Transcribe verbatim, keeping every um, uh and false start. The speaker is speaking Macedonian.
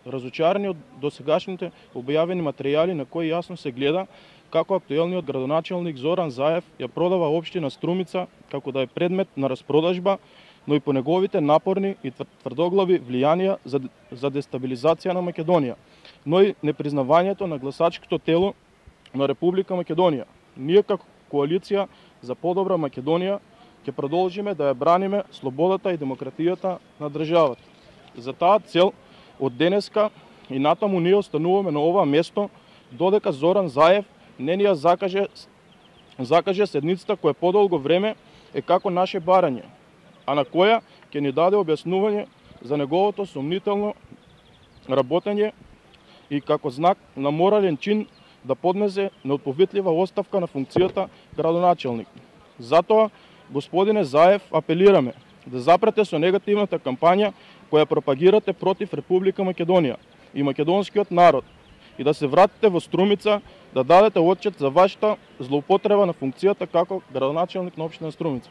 разочарани од досегашните објавени материјали на кои јасно се гледа како актуелниот градоначелник Зоран Заев ја продава општина Струмица како да е предмет на распродажба, но и по неговите напорни и тврдоглави влијанија за, за дестабилизација на Македонија, но и непризнавањето на гласачкото тело на Република Македонија. Ние како коалиција за подобра Македонија ќе продолжиме да ја браниме слободата и демократијата на државата. За таа цел од денеска и натаму ние остануваме на ова место додека Зоран Заев не ни ја закаже, закаже седницата која подолго време е како наше барање, а на која ќе ни даде објаснување за неговото сомнително работење и како знак на морален чин да поднесе неотповитлива оставка на функцијата градоначелник. Затоа, господине Заев, апелираме да запрете со негативната кампања која пропагирате против Република Македонија и македонскиот народ и да се вратите во Струмица да дадете отчет за вашата злоупотреба на функцијата како градоначелник на општина Струмица.